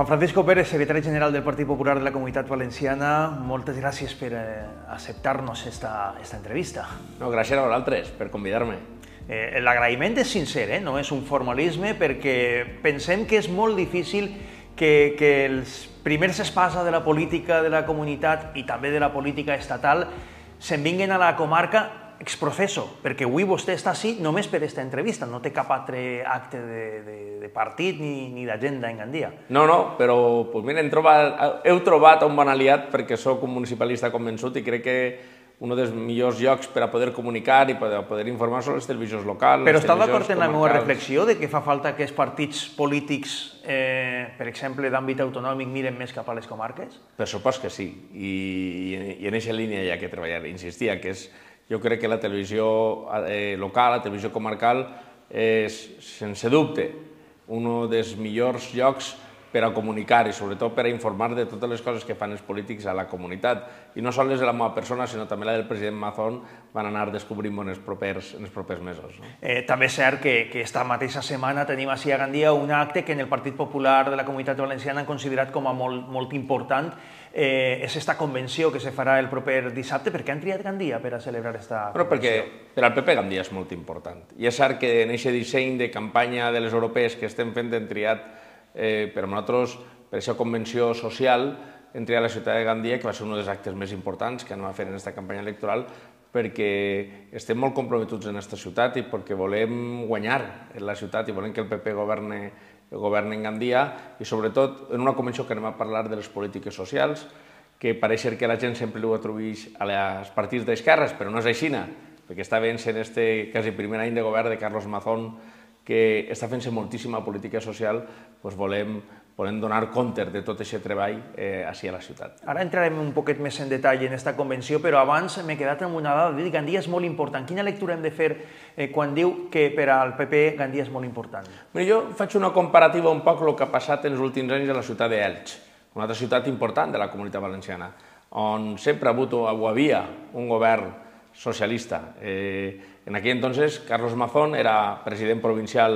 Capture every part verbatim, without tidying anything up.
Juan Francisco Pérez, secretari general del Partit Popular de la Comunitat Valenciana, moltes gràcies per eh, acceptar-nos esta, esta entrevista. No, gràcies a vosaltres per convidar-me. Eh, L'agraïment és sincer, eh? No és un formalisme, perquè pensem que és molt difícil que, que els primers espasa de la política de la comunitat i també de la política estatal se'n vinguin a la comarca exprofeso, perquè avui vostè està així només per aquesta entrevista, no té cap altre acte de, de, de partit ni, ni d'agenda en Gandia. No, no, però pues mira, hem trobat, heu trobat un bon aliat perquè sóc un municipalista convençut i crec que un dels millors llocs per a poder comunicar i per a poder informar són les televisions locals. Però està d'acord en la meva reflexió de que fa falta que els partits polítics, eh, per exemple, d'àmbit autonòmic, miren més cap a les comarques? Per supost que sí, i, i en aquesta línia hi ha que treballar. Insistia que és, jo crec que la televisió eh, local, la televisió comarcal, és, sense dubte, un dels millors llocs per a comunicar i sobretot per a informar de totes les coses que fan els polítics a la comunitat. I no sols de la meva persona, sinó també la del president Mazón van anar descobrint en els propers, en els propers mesos. No? Eh, també és cert que, que esta mateixa setmana tenim així a Gandia un acte que en el Partit Popular de la Comunitat Valenciana han considerat com a molt, molt important. Eh, és esta convenció que se farà el proper dissabte. Per què han triat Gandia per a celebrar esta bueno, convenció? Perquè per al P P Gandia és molt important. I és cert que en aquest disseny de campanya de les europees que estem fent hem triat Eh, per a nosaltres, per aquesta convenció social, hem triat la ciutat de Gandia, que va ser un dels actes més importants que anem a fer en aquesta campanya electoral, perquè estem molt comprometuts en aquesta ciutat i perquè volem guanyar en la ciutat i volem que el P P governe, governe en Gandia i sobretot en una convenció que anem a parlar de les polítiques socials, que pareix ser que la gent sempre ho atribueix als partits d'esquerres, però no és així, perquè està veient en este quasi primer any de govern de Carlos Mazón que està fent-se moltíssima política social, doncs volem, volem donar compte de tot aquest treball eh, així a la ciutat. Ara entrarem un poquet més en detall en aquesta convenció, però abans m'he quedat amb una dada de dir que Gandia és molt important. Quina lectura hem de fer eh, quan diu que per al P P Gandia és molt important? Mira, jo faig una comparativa un poc el que ha passat en els últims anys a la ciutat d'Elx, una altra ciutat important de la Comunitat Valenciana, on sempre ha hagut o havia un govern socialista. Eh, en aquell entonces, Carlos Mazón era president provincial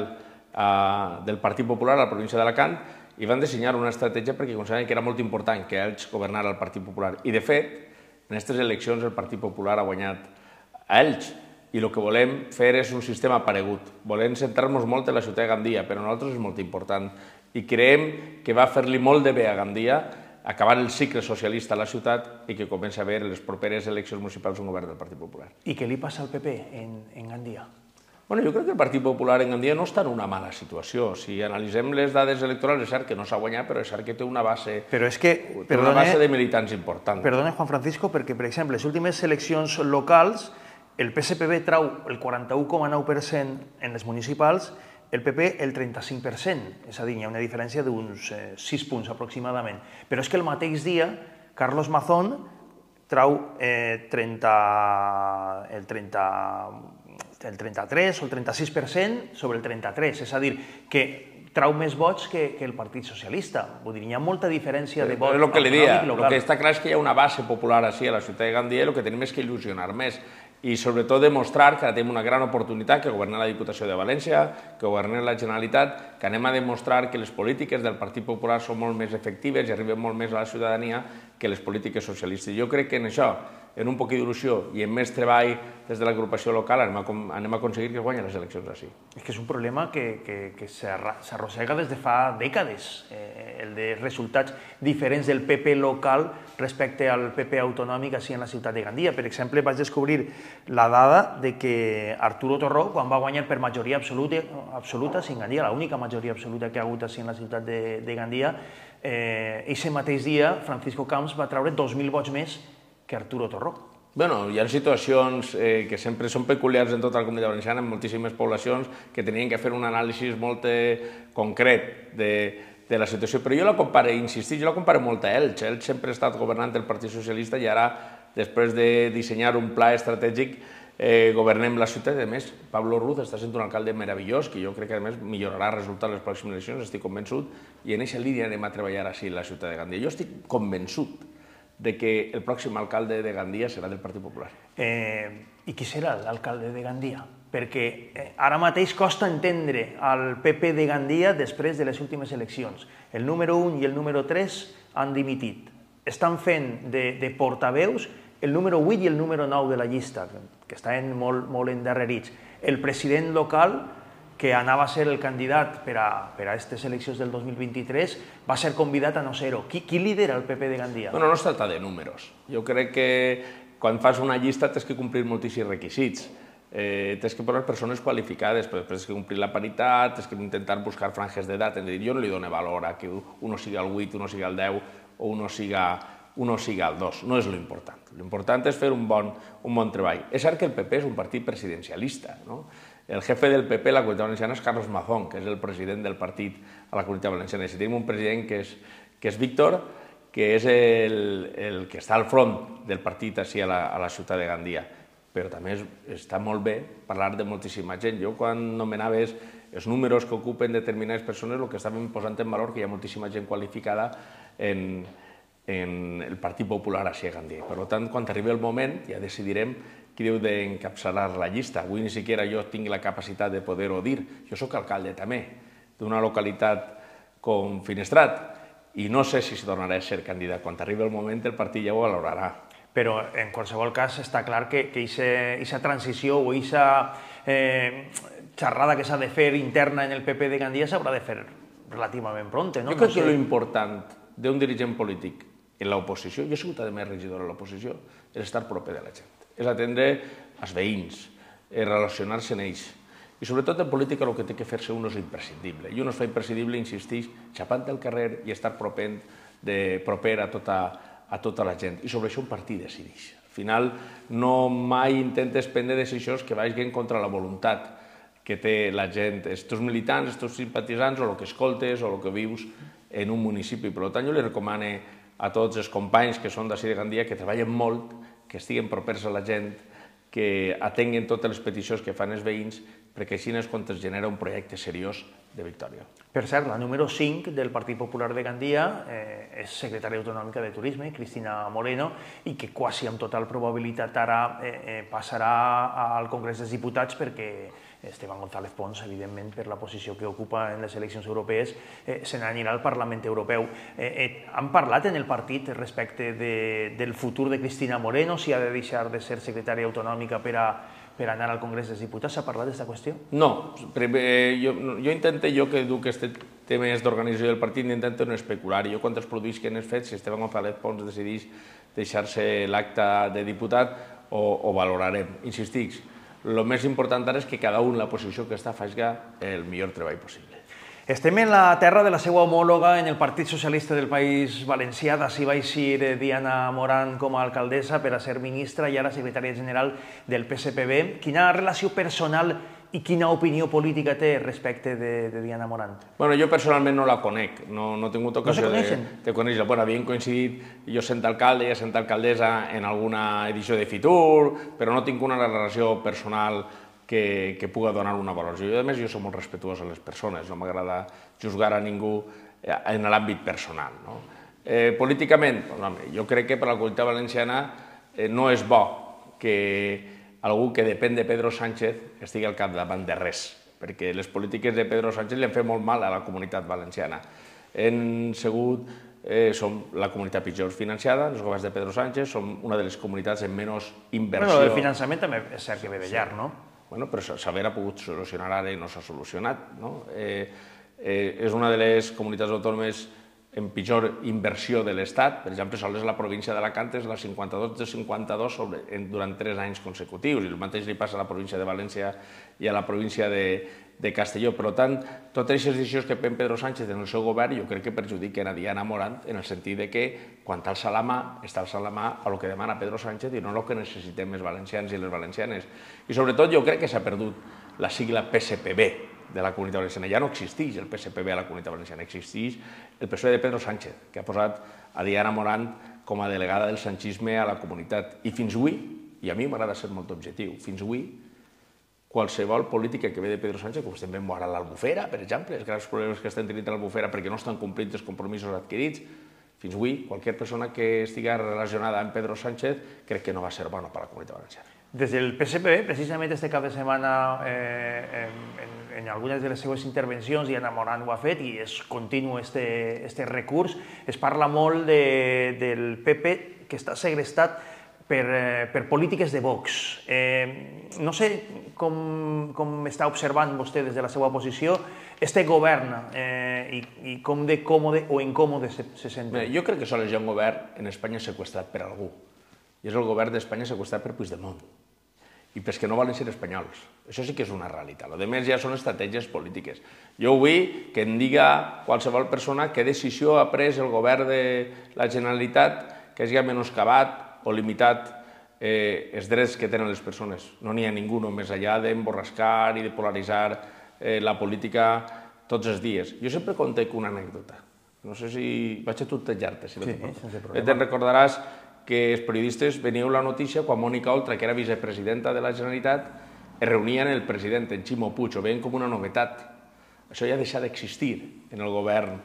eh, del Partit Popular a la província d'Alacant i van dissenyar una estratègia perquè consideraven que era molt important que Elx governara el Partit Popular. I, de fet, en aquestes eleccions el Partit Popular ha guanyat a Elx i el que volem fer és un sistema paregut. Volem centrar-nos molt en la ciutat de Gandia, però a nosaltres és molt important. I creiem que va fer-li molt de bé a Gandia acabar el cicle socialista a la ciutat i que comença a haver en les properes eleccions municipals un govern del Partit Popular. I què li passa al P P en, en Gandia? Bueno, jo crec que el Partit Popular en Gandia no està en una mala situació. Si analitzem les dades electorals, és cert que no s'ha guanyat, però és cert que té una base, però és que, té una base de militants important. Perdona, Juan Francisco, perquè, per exemple, les últimes eleccions locals, el P S P B trau el quaranta-u coma nou per cent en les municipals, el P P el trenta-cinc per cent, és a dir, hi ha una diferència d'uns eh, sis punts aproximadament. Però és que el mateix dia, Carlos Mazón trau eh, trenta, el, trenta, el trenta-tres o el trenta-sis per cent sobre el trenta-tres, és a dir, que trau més vots que, que el Partit Socialista. Vull dir, hi ha molta diferència de vots. És el que li dia, el que està clar és que hi ha una base popular així a la ciutat de Gandia i el que tenim és que il·lusionar més i sobretot demostrar que ara tenim una gran oportunitat que governar la Diputació de València, que governar la Generalitat, que anem a demostrar que les polítiques del Partit Popular són molt més efectives i arriben molt més a la ciutadania que les polítiques socialistes. Jo crec que en això, en un poc d'il·lusió i en més treball des de l'agrupació local, anem a, anem a aconseguir que es guanyin les eleccions així. És que és un problema que, que, que s'arrossega des de fa dècades, eh, el de resultats diferents del P P local respecte al P P autonòmic així en la ciutat de Gandia. Per exemple, vaig descobrir la dada de que Arturo Torró, quan va guanyar per majoria absoluta, absoluta sin Gandia, l'única majoria absoluta que ha hagut així en la ciutat de, de Gandia, eh, ese mateix dia Francisco Camps va treure dos mil vots més que Arturo Torró. Bueno, hi ha situacions eh, que sempre són peculiars en tota la Comunitat Valenciana, en moltíssimes poblacions, que tenien que fer un anàlisi molt eh, concret de, de la situació. Però jo la comparo, insistir, jo la comparo molt a Elx. Elx sempre ha estat governant el Partit Socialista i ara, després de dissenyar un pla estratègic, eh, governem la ciutat. A més, Pablo Ruz està sent un alcalde meravellós, que jo crec que a més millorarà el resultat en les pròximes eleccions, estic convençut, i en aquesta línia anem a treballar així a la ciutat de Gandia. Jo estic convençut de que el pròxim alcalde de Gandia serà del Partit Popular. Eh, I qui serà l'alcalde de Gandia? perquè ara mateix costa entendre el P P de Gandia després de les últimes eleccions. El número un i el número tres han dimitit. Estan fent de portaveus el número vuit i el número nou de la llista, que estan molt endarrerits. El president local, que anava a ser el candidat per a aquestes eleccions del dos mil vint-i-tres, va ser convidat a no ser-ho. Qui lidera el P P de Gandia? Bueno, no es tracta de números. Jo crec que quan fas una llista tens que complir moltíssims requisits. Tens que posar persones qualificades, però després tens que complir la paritat, tens que intentar buscar franges d'edat. Jo no li dono valor a que uno siga el vuit, uno siga el deu o uno siga el dos. No és l'important. L'important és fer un bon treball. És cert que el P P és un partit presidencialista. El jefe del P P a la Comunitat Valenciana és Carlos Mazón, que és el president del partit a la Comunitat Valenciana. I si tenim un president que és Víctor, que és el que està al front del partit així a la ciutat de Gandia. Però també està molt bé parlar de moltíssima gent. Jo, quan nomenaves els números que ocupen determinades persones, el que estàvem posant en valor que hi ha moltíssima gent qualificada en el Partit Popular així a Gandia. Per tant, quan arribi el moment, ja decidirem qui deu d'encapçalar la llista. Avui ni siquiera jo tinc la capacitat de poder-ho dir. Jo soc alcalde també d'una localitat com Finestrat i no sé si tornaré a ser candidat. Quan arribi el moment, el partit ja ho valorarà. Però, en qualsevol cas, està clar que aquesta transició o aquesta xerrada que s'ha de fer interna en el P P de Gandia s'haurà de fer relativament pronte, no? Jo crec que l'important d'un dirigent polític en l'oposició, jo he sigut a més regidor a l'oposició, és estar proper de la gent, és atendre els veïns, és relacionar-se amb ells. I sobretot en política el que té que fer-se un és imprescindible. I un es fa imprescindible, insistix, xapant del carrer i estar proper a tota a tota la gent, i sobre això un partit decideix. Al final, no mai intentes prendre decisions que vagin contra la voluntat que té la gent, els teus militants, els teus simpatitzants, o el que escoltes, o el que vius en un municipi. Per tant, jo li recomano a tots els companys que són d'ací de Gandia que treballen molt, que estiguen propers a la gent, que atenguen totes les peticions que fan els veïns, perquè així és quan es genera un projecte seriós de victòria. Per cert, la número cinc del Partit Popular de Gandia és secretària autonòmica de Turisme, Cristina Moreno, i que quasi amb total probabilitat ara passarà al Congrés dels Diputats perquè Esteban González Pons, evidentment, per la posició que ocupa en les eleccions europees, se n'anirà al Parlament Europeu. Han parlat en el partit respecte del futur de Cristina Moreno, si ha de deixar de ser secretària autonòmica per a per anar al Congrés dels Diputats? S'ha parlat d'aquesta qüestió? No. Jo intento, jo que duc aquest tema d'organització del partit, intento no especular. Jo quan es produïsquen els fets, si Esteban González Pons decideix deixar-se l'acte de diputat, ho valorarem. Insistic, el més important ara és que cada un la posició que està faci el millor treball possible. Estem en la terra de la seva homòloga en el Partit Socialista del País Valencià. D'ací va eixir Diana Morant com a alcaldessa per a ser ministra i ara secretària general del P S P B. Quina relació personal i quina opinió política té respecte de Diana Morant? Bueno, jo personalment no la conec, no he tingut ocasió de conèixer-la. Bueno, havíem coincidit, jo sent alcalde, ella sent alcaldessa en alguna edició de Fitur, però no tinc una relació personal que pugui donar una valoració. Jo, a més, jo soc molt respetuós a les persones, no m'agrada juzgar a ningú en l'àmbit personal. Políticament, jo crec que per a la comunitat valenciana no és bo que algú que depèn de Pedro Sánchez estigui al capdavant de res, perquè les polítiques de Pedro Sánchez li han fet molt mal a la comunitat valenciana. Hem sigut, som la comunitat pitjor financiada, els governs de Pedro Sánchez, som una de les comunitats amb menys inversió. Però el finançament també és cert que ve de llarg, no? Bueno, però s'haver pogut solucionar ara i no s'ha solucionat. És una de les comunitats autònomes en pitjor inversió de l'Estat. Per exemple, sols la província d'Alacant és la cinquanta-dos de cinquanta-dos durant tres anys consecutius, i el mateix li passa a la província de València i a la província de Castelló. Per tant, totes aquestes decisions que pren Pedro Sánchez en el seu govern jo crec que perjudiquen a Diana Morant en el sentit que quan t'alça la mà, està alçant la mà a el que demana Pedro Sánchez i no el que necessitem els valencians i les valencianes. I sobretot jo crec que s'ha perdut la sigla P S P B de la Comunitat Valenciana. Ja no existeix el P S P B a la Comunitat Valenciana, existeix el P S O E de Pedro Sánchez, que ha posat a Diana Morant com a delegada del sanchisme a la comunitat. I fins avui, i a mi m'agrada ser molt objectiu, fins avui qualsevol política que ve de Pedro Sánchez, com estem veient ara a l'Albufera, per exemple, els grans problemes que estan tenint a l'Albufera perquè no estan complint els compromisos adquirits, fins avui, qualsevol persona que estigui relacionada amb Pedro Sánchez crec que no va ser bona per a la Comunitat Valenciana. Des del P S P B, precisament este cap de setmana, eh, en, en algunes de les seues intervencions, i Ana Morant ho ha fet, i és continu este, este recurs, es parla molt de, del P P que està segrestat per, eh, per polítiques de Vox. Eh, no sé com, com està observant vostè des de la seva posició este govern eh, i, i com de còmode o incòmode se, se sent. Bé, jo crec que sols hi ha un govern en Espanya seqüestrat per algú, i és el govern d'Espanya seqüestrat per Puigdemont i pels que no volen ser espanyols. Això sí que és una realitat. El que ja són estratègies polítiques. Jo vull que em diga qualsevol persona què decisió ha pres el govern de la Generalitat que hagi menoscabat o limitat eh, els drets que tenen les persones. No n'hi ha ningú, més enllà d'emborrascar i de polaritzar eh, la política tots els dies. Jo sempre conté una anècdota. No sé si... Vaig a tutejar-te, si no sí, te sense problema. Te'n recordaràs que els periodistes veníeu la notícia quan Mònica Oltra, que era vicepresidenta de la Generalitat, es reunien el president, en Ximo Puig, ho veien com una novetat. Això ja deixa d'existir en el govern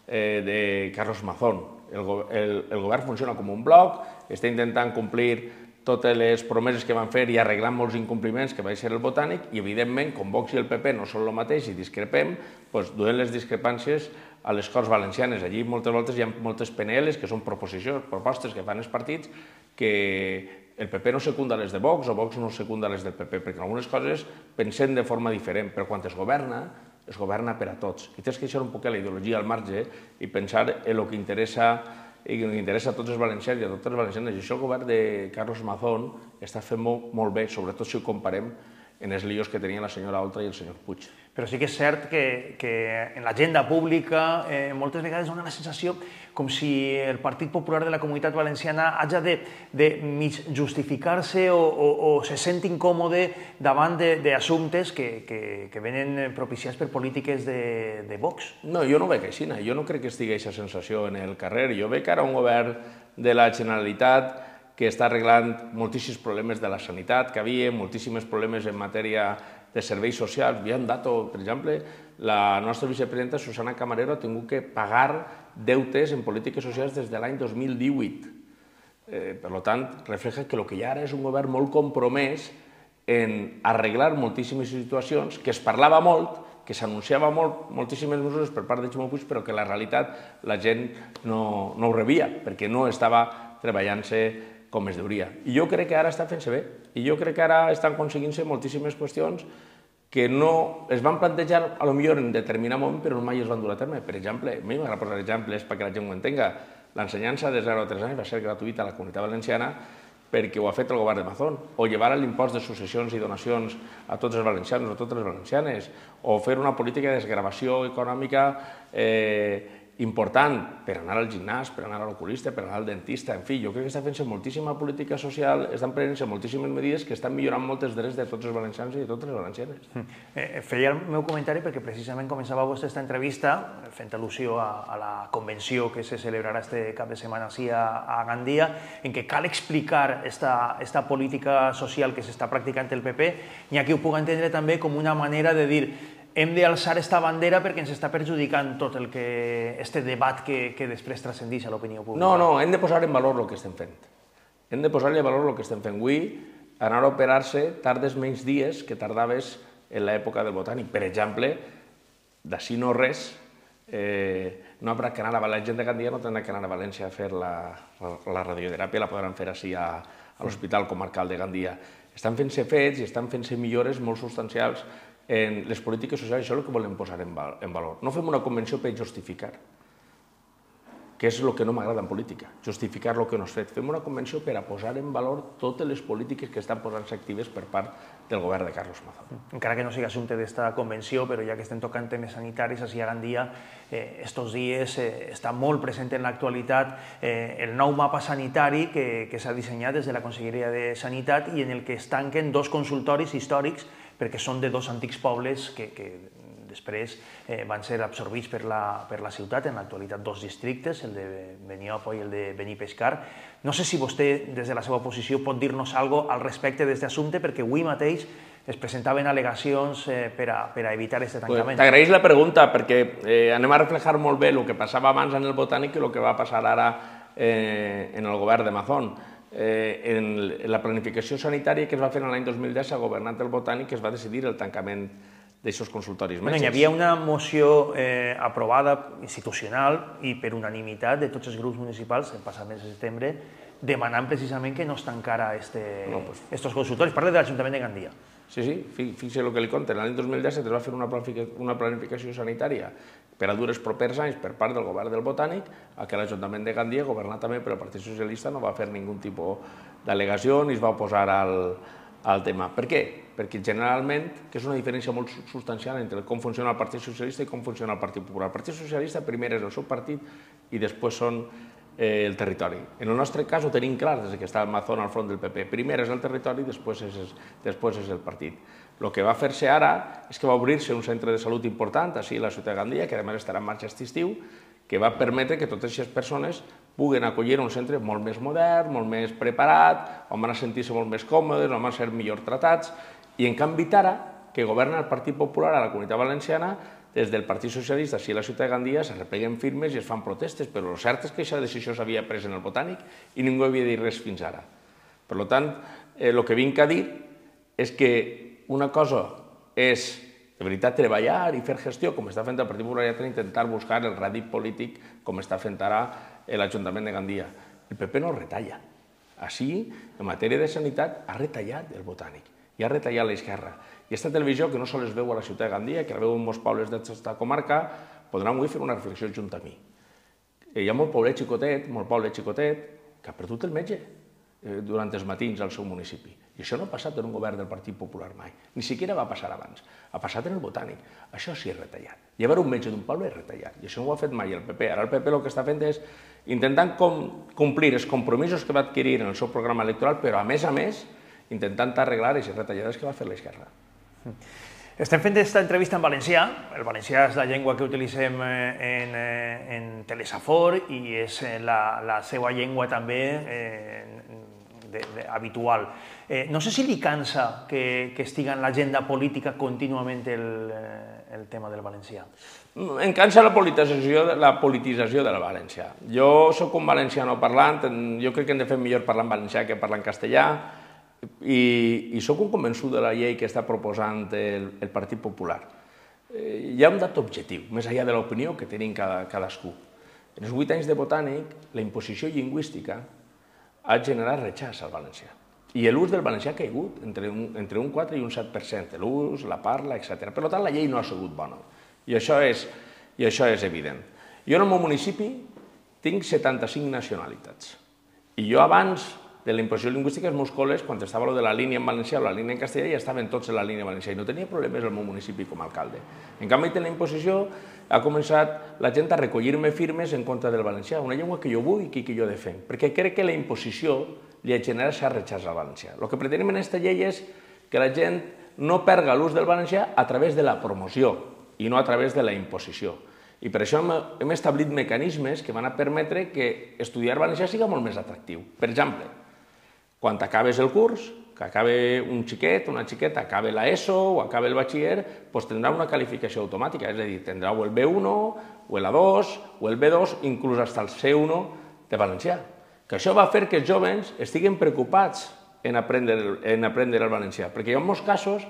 eh, de Carlos Mazón. El, el, el govern funciona com un bloc, està intentant complir totes les promeses que van fer i arreglant molts incompliments que va ser el Botànic, i evidentment, com Vox i el P P no són el mateix i discrepem, doncs duem les discrepàncies a les Corts Valencianes. Allí moltes voltes hi ha moltes P N Ls, que són proposicions, propostes que fan els partits, que el P P no secunda les de Vox o Vox no secunda les del P P, perquè algunes coses pensem de forma diferent, però quan es governa, es governa per a tots. I tens que deixar un poc la ideologia al marge i pensar en el que interessa i que interessa a tots els valencians i a totes les valencianes. I això el govern de Carlos Mazón està fent molt, molt bé, sobretot si ho comparem en els líos que tenien la senyora Oltra i el senyor Puig. Però sí que és cert que, que en l'agenda pública eh, moltes vegades dona la sensació com si el Partit Popular de la Comunitat Valenciana hagi de, de mig justificar-se o, o, o se sent incòmode davant d'assumptes que, que, que venen propiciats per polítiques de, de Vox. No, jo no veig així, jo no crec que estigui aquesta sensació en el carrer. Jo veig ara un govern de la Generalitat que està arreglant moltíssims problemes de la sanitat que havia, moltíssims problemes en matèria de serveis socials. Hi ha un dato, per exemple, la nostra vicepresidenta Susana Camarero ha tingut que pagar deutes en polítiques socials des de l'any dos mil divuit. Eh, per tant, refleja que el que hi ha ara és un govern molt compromès en arreglar moltíssimes situacions, que es parlava molt, que s'anunciava molt, moltíssimes mesures per part de Ximo Puig, però que la realitat la gent no, no ho rebia, perquè no estava treballant-se com es deuria. I jo crec que ara està fent-se bé, i jo crec que ara estan aconseguint-se moltíssimes qüestions que no es van plantejar, a lo millor en determinat moment, però mai es van dur a terme. Per exemple, a mi m'agrada posar exemples perquè la gent ho entenga. L'ensenyança de zero a tres anys va ser gratuïta a la Comunitat Valenciana perquè ho ha fet el govern de Mazón, o llevar l'impost de successions i donacions a tots els valencians o a totes les valencianes, o fer una política de desgravació econòmica eh, important per anar al gimnàs, per anar a l'oculista, per anar al dentista, en fi, jo crec que està fent-se moltíssima política social, estan prenent-se moltíssimes medides que estan millorant molts drets de tots els valencians i de totes les valencianes. Eh, feia el meu comentari perquè precisament començava vostè aquesta entrevista fent al·lusió a, a la convenció que se celebrarà este cap de setmana així a, a Gandia, en què cal explicar esta, esta política social que s'està practicant el P P, n'hi ha qui ho pugui entendre també com una manera de dir hem d'alçar esta bandera perquè ens està perjudicant tot el que este debat que, que després transcendeix a l'opinió pública. No, no, hem de posar en valor el que estem fent. Hem de posar en valor el que estem fent. Avui, anar a operar-se tardes menys dies que tardaves en l'època del Botànic. Per exemple, d'ací no res, eh, no haurà que anar a la gent de Gandia, no tindrà que anar a València a fer la, la radioteràpia, la podran fer així a, a l'Hospital Comarcal de Gandia. Estan fent-se fets i estan fent-se millores molt substancials en les polítiques socials. Això és el que volem posar en valor. No fem una convenció per justificar, que és el que no m'agrada en política, justificar el que no has fet. Fem una convenció per a posar en valor totes les polítiques que estan posant-se actives per part del govern de Carlos Mazón. Encara que no sigui assumpte d'esta convenció, però ja que estem tocant temes sanitaris, així a Gandia, eh, estos dies eh, està molt present en l'actualitat eh, el nou mapa sanitari que, que s'ha dissenyat des de la Conselleria de Sanitat i en el que es tanquen dos consultoris històrics perquè són de dos antics pobles que, que després eh, van ser absorbits per la, per la ciutat, en l'actualitat dos districtes, el de Beniopo i el de Benipescar. No sé si vostè, des de la seva posició, pot dir-nos alguna cosa al respecte d'aquest assumpte, perquè avui mateix es presentaven al·legacions eh, per, a, per a evitar aquest tancament. Pues t'agraeix la pregunta, perquè eh, anem a reflejar molt bé el que passava abans en el Botànic i el que va passar ara eh, en el govern de Mazón. en la planificació sanitària que es va fer l'any dos mil deu s'ha governat el Botànic, que es va decidir el tancament d'aixòs consultoris metges. Hi havia una moció aprovada institucional i per unanimitat de tots els grups municipals el passat mes de setembre demanant precisament que no es tancara aquests consultoris. Parla de l'Ajuntament de Gandia. Sí, sí, fixa el que li conten. L'any dos mil disset es va fer una planificació sanitària per a dur els propers anys per part del govern del Botànic, a què l'Ajuntament de Gandia, governat també pel Partit Socialista, no va fer ningú tipus d'al·legació ni es va oposar al tema. Per què? Perquè generalment, que és una diferència molt substancial entre com funciona el Partit Socialista i com funciona el Partit Popular. El Partit Socialista primer és el seu partit i després són el territori. En el nostre cas ho tenim clar des que està el Mazón al front del P P. Primer és el territori i després és el partit. El que va fer-se ara és que va obrir-se un centre de salut important així a la ciutat de Gandia, que a més estarà en marxa aquest estiu, que va permetre que totes aquestes persones puguen acollir un centre molt més modern, molt més preparat, on van a sentir-se molt més còmodes, on van a ser millor tratats, i en canvi ara, que governa el Partit Popular a la Comunitat Valenciana, des del Partit Socialista, així a la ciutat de Gandia, se repleguen firmes i es fan protestes, però el cert és que aquesta decisió s'havia pres en el Botànic i ningú havia dit res fins ara. Per tant, el que vinc a dir és que una cosa és, de veritat, treballar i fer gestió, com està fent el Partit Popular, i intentar buscar el rèdit polític, com està fent ara l'Ajuntament de Gandia. El P P no retalla. Així, en matèria de sanitat, ha retallat el Botànic i ha retallat l'esquerra. I aquesta televisió, que no sols es veu a la ciutat de Gandia, que la veu en molts pobles d'aquesta comarca, podran avui fer una reflexió junt a mi. Hi ha molt poble xicotet, molt poble xicotet, que ha perdut el metge durant els matins al seu municipi. I això no ha passat en un govern del Partit Popular mai. Ni siquiera va passar abans. Ha passat en el Botànic. Això sí és retallat. Llevar un metge d'un poble és retallat. I això no ho ha fet mai el P P. Ara el P P el que està fent és intentant complir els compromisos que va adquirir en el seu programa electoral, però a més a més intentant arreglar aquestes retallades que va fer l'esquerra. Estem fent aquesta entrevista en valencià. El valencià és la llengua que utilitzem en Telesafor i és la seva llengua també habitual. No sé si li cansa que estigui en l'agenda política contínuament el tema del valencià. Em cansa la politització del valencià. Jo soc un valenciano parlant, jo crec que hem de fer millor parlar en valencià que parlar en castellà, i soc un convençut de la llei que està proposant el Partit Popular. Hi ha un dat objectiu, més enllà de l'opinió que tenim cadascú. En els vuit anys de Botànic, la imposició lingüística ha generat rechaç al valencià. I l'ús del valencià ha caigut entre un quatre i un set per cent, l'ús, la parla, etcètera. Per tant, la llei no ha sigut bona. I això és evident. Jo en el meu municipi tinc setanta-cinc nacionalitats. I jo abans de la imposició lingüística, els meus col·les, quan estava de la línia en valencià o la línia en castellà, ja estaven tots en la línia valencià i no tenia problemes al meu municipi com a alcalde. En canvi, de la imposició ha començat la gent a recollir-me firmes en contra del valencià, una llengua que jo vull i que jo defenc, perquè crec que la imposició li ha generat aquest rechaç al valencià. El que pretenem en aquesta llei és que la gent no perga l'ús del valencià a través de la promoció i no a través de la imposició. I per això hem establit mecanismes que van a permetre que estudiar valencià sigui molt més atractiu. Per exemple, quan acabes el curs, que acabe un xiquet, una xiqueta, acabe l'ESO o acabe el batxiller, doncs tindrà una qualificació automàtica, és a dir, tindrà o el B uno, o el A dos, o el B dos, inclús fins el C uno de valencià. Que això va fer que els joves estiguin preocupats en aprendre el valencià, perquè hi ha molts casos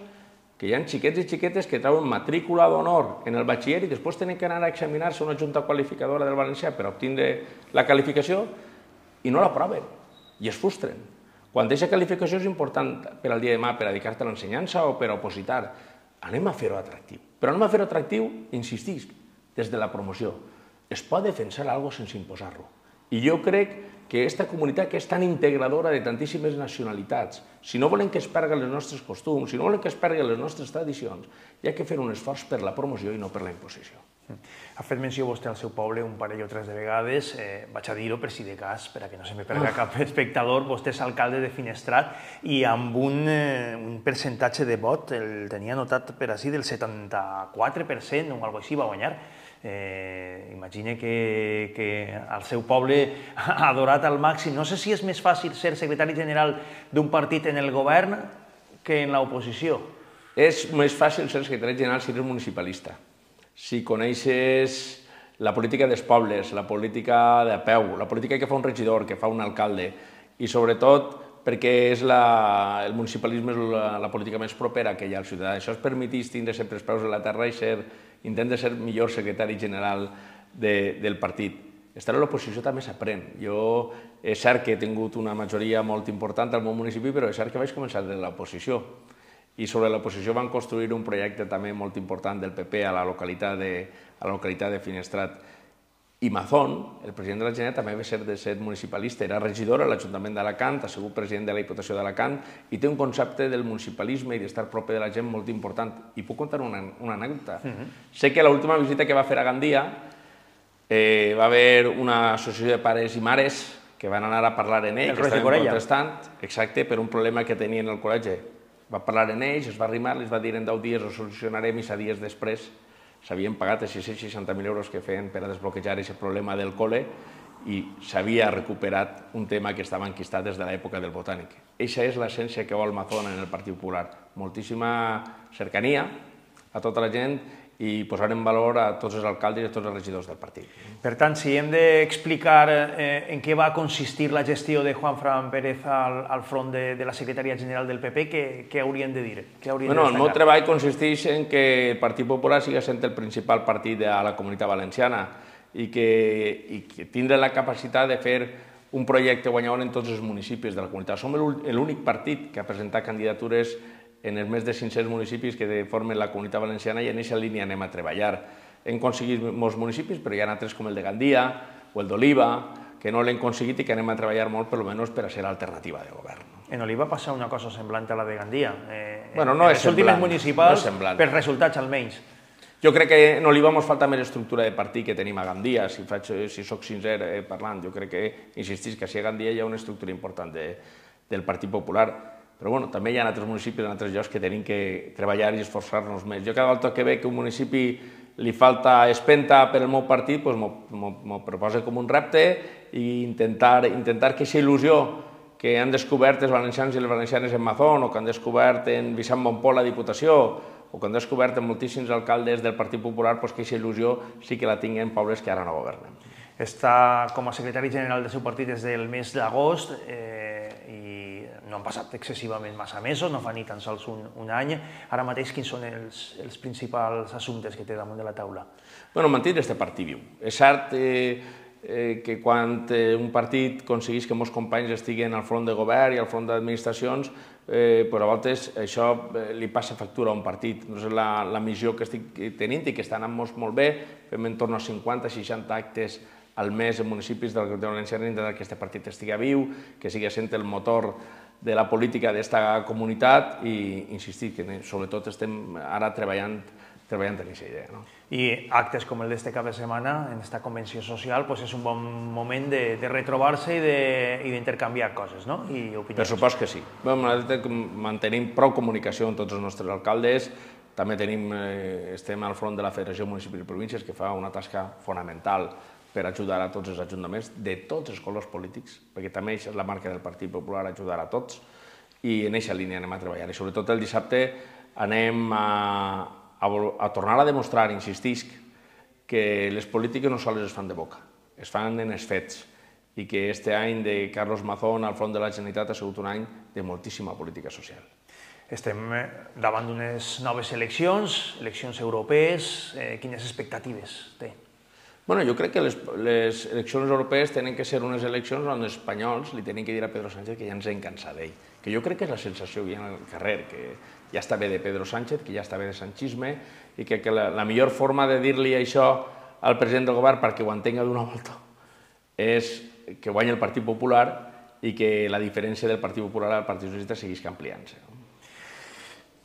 que hi ha xiquets i xiquetes que treuen matrícula d'honor en el batxiller i després tenen que anar a examinar-se a una junta qualificadora del valencià per obtenir la qualificació i no l'aproven i es frustren. Quan aquesta qualificació és important per al dia de demà, per dedicar-te a l'ensenyança o per a opositar, anem a fer-ho atractiu. Però anem a fer-ho atractiu, insistisc, des de la promoció. Es pot defensar alguna cosa sense imposar-lo. I jo crec que aquesta comunitat que és tan integradora de tantíssimes nacionalitats, si no volen que es perdin els nostres costums, si no volen que es perdin les nostres tradicions, hi ha que fer un esforç per la promoció i no per la imposició. Ha fet menció vostè al seu poble un parell o tres de vegades, vaig a dir-ho per si de cas, per a que no se me perga cap espectador, vostè és alcalde de Finestrat i amb un percentatge de vot, el tenia notat per així, del setanta-quatre per cent o alguna cosa així va guanyar. Imagine que el seu poble ha adorat al màxim. No sé si és més fàcil ser secretari general d'un partit en el govern que en l'oposició. És més fàcil ser secretari general si eres municipalista. Si coneixes la política dels pobles, la política de peu, la política que fa un regidor, que fa un alcalde, i sobretot perquè és la, el municipalisme és la, la política més propera que hi ha al ciutadà. Això es permetís tindre sempre els peus a la terra i ser, intenta ser millor secretari general de, del partit. Estar a l'oposició també s'aprèn. Jo és cert que he tingut una majoria molt important al meu municipi, però és cert que vaig començar de l'oposició. I sobre l'oposició van construir un projecte també molt important del P P a la localitat de, a la localitat de Finestrat. I Mazón, el president de la Generalitat, també va ser de ser municipalista, era regidor a l'Ajuntament d'Alacant, ha sigut president de la Diputació d'Alacant i té un concepte del municipalisme i d'estar proper de la gent molt important. I puc contar una, una anècdota. Uh-huh. Sé que l'última visita que va fer a Gandia eh, va haver una associació de pares i mares que van anar a parlar en ell, el que estaven Corella. protestant, exacte, per un problema que tenien al col·legi. Va parlar en ells, es va arrimar, els va dir en deu dies ho solucionarem i set dies després s'havien pagat els sis-cents seixanta mil euros que feien per a desbloquejar aquest problema del col·le i s'havia recuperat un tema que estava enquistat des de l'època del Botànic. Eixa és l'essència que vol Mazón en el Partit Popular. Moltíssima cercania a tota la gent i posar en valor a tots els alcaldes i a tots els regidors del partit. Per tant, si hem d'explicar eh, en què va consistir la gestió de Juanfran Pérez al, al front de, de la secretaria general del P P, què, què haurien de dir? Què haurien bueno, de el meu treball consisteix en que el Partit Popular siga sent el principal partit de la Comunitat Valenciana i que, i que tindre la capacitat de fer un projecte guanyador en tots els municipis de la comunitat. Som l'únic partit que ha presentat candidatures en els més de cinc-cents municipis que formen la Comunitat Valenciana i en aquesta línia anem a treballar. Hem aconseguit molts municipis, però hi ha altres com el de Gandia o el d'Oliva, que no l'hem aconseguit i que anem a treballar molt, per almenys per a ser alternativa de govern. En Oliva passa una cosa semblant a la de Gandia. Eh, bueno, no en és els últims semblant, municipals, no és per resultats almenys. Jo crec que en Oliva ens falta més estructura de partit que tenim a Gandia, si, faig, si soc sincer eh, parlant. Jo crec que, insistís, que si a Gandia hi ha una estructura important de, del Partit Popular. Però bueno, també hi ha altres municipis, en altres llocs que tenim que treballar i esforçar-nos més. Jo cada volta que veig que un municipi li falta espenta per al meu partit, doncs m'ho proposa com un repte i intentar, intentar que aquesta il·lusió que han descobert els valencians i les valencianes en Mazón, o que han descobert en Vicent Montpó la Diputació, o que han descobert en moltíssims alcaldes del Partit Popular, doncs que aquesta il·lusió sí que la tinguen pobles que ara no governen. Està com a secretari general del seu partit des del mes d'agost eh, i no han passat excessivament massa mesos, no fa ni tan sols un, un any. Ara mateix, quins són els, els principals assumptes que té damunt de la taula? Bueno, mantenir este partit viu. És cert eh, eh, que quan eh, un partit aconsegueix que molts companys estiguen al front de govern i al front d'administracions, eh, però a voltes això eh, li passa factura a un partit. No és la, la missió que estic tenint i que està anant molt, molt bé. Fem en torn a cinquanta seixanta actes al mes en municipis de la Comunitat Valenciana, intentar que aquest partit estigui viu, que sigui sent el motor de la política d'esta comunitat i insistir que sobretot estem ara treballant, treballant en aquesta idea. No? I actes com el d'este cap de setmana, en esta convenció social, pues és un bon moment de, de retrobar-se i d'intercanviar coses, no? I opinions. Per supost que sí. Bueno, mantenim prou comunicació amb tots els nostres alcaldes, també tenim, eh, estem al front de la Federació de Municipis i Províncies, que fa una tasca fonamental per ajudar a tots els ajuntaments de tots els colors polítics, perquè també és la marca del Partit Popular, ajudar a tots, i en aquesta línia anem a treballar. I sobretot el dissabte anem a, a, a tornar a demostrar, insistisc, que les polítiques no sols es fan de boca, es fan en els fets, i que este any de Carlos Mazón al front de la Generalitat ha sigut un any de moltíssima política social. Estem davant d'unes noves eleccions, eleccions europees, eh, quines expectatives té? Bueno, jo crec que les, les eleccions europees tenen que ser unes eleccions on els espanyols li tenen que dir a Pedro Sánchez que ja ens hem cansat d'ell. Que jo crec que és la sensació que hi ha al carrer, que ja està bé de Pedro Sánchez, que ja està bé de sanchisme, i que, que la, la millor forma de dir-li això al president del govern perquè ho entenga d'una volta és que guanyi el Partit Popular i que la diferència del Partit Popular al Partit Socialista seguís ampliant-se.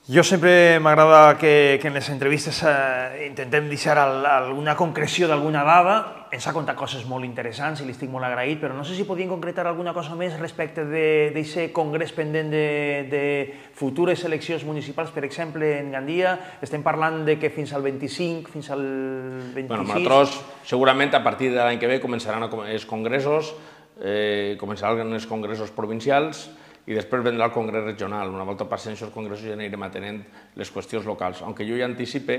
Jo sempre m'agrada que, que en les entrevistes eh, intentem deixar al, alguna concreció d'alguna dada. Ens ha contat coses molt interessants i li estic molt agraït, però no sé si podien concretar alguna cosa més respecte d'aquest congrés pendent de, de futures eleccions municipals, per exemple, en Gandia. Estem parlant de que fins al vint-i-cinc, fins al vint-i-sis... Bueno, nosaltres, segurament, a partir de l'any que ve començaran els congressos, eh, començaran els congressos provincials, i després vendrà el congrés regional. Una volta passen aquests congressos ja anirem atenent les qüestions locals. Aunque jo ja anticipe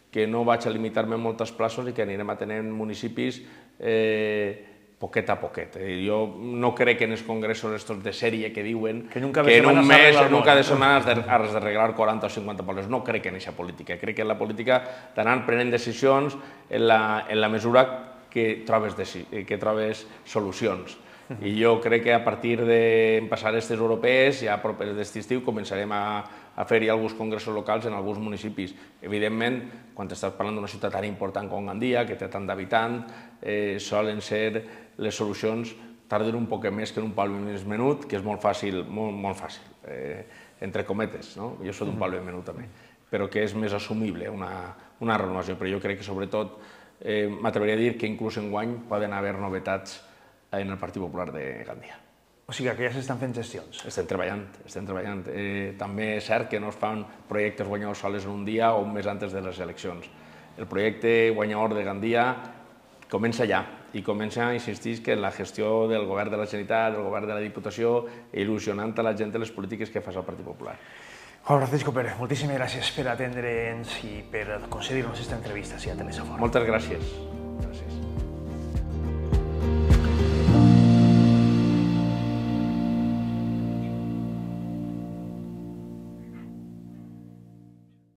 que no vaig a limitar-me en moltes places i que anirem atenent municipis eh, poquet a poquet. Jo no crec que en els congressos estos de sèrie que diuen que en un mes, en un cap de setmana has d'arreglar quaranta o cinquanta pobles. No crec en aquesta política. Crec que en la política t'anan prenent decisions en la mesura que trobes solucions. I jo crec que a partir de passar aquestes europees, ja properes d'aquest estiu, començarem a fer-hi alguns congressos locals en alguns municipis. Evidentment, quan estàs parlant d'una ciutat tan important com Gandia, que té tant d'habitants, solen ser les solucions tarden un poc més que en un poble més menut, que és molt fàcil, molt fàcil, entre cometes, jo soc d'un poble menut també, però que és més assumible una renovació. Però jo crec que, sobretot, m'atreviria a dir que inclús enguany poden haver novetats en el Partit Popular de Gandia. O sigui que ja s'estan fent gestions. Estem treballant, estem treballant. També és cert que no es fan projectes guanyadors sols en un dia o un mes antes de les eleccions. El projecte guanyador de Gandia comença ja, i comença, insistís, que en la gestió del govern de la Generalitat, del govern de la Diputació, il·lusionant a la gent de les polítiques que fa el Partit Popular. Juan Francisco Pérez, moltíssimes gràcies per atendre'ns i per concedir-nos aquesta entrevista a Telesafora. Moltes gràcies.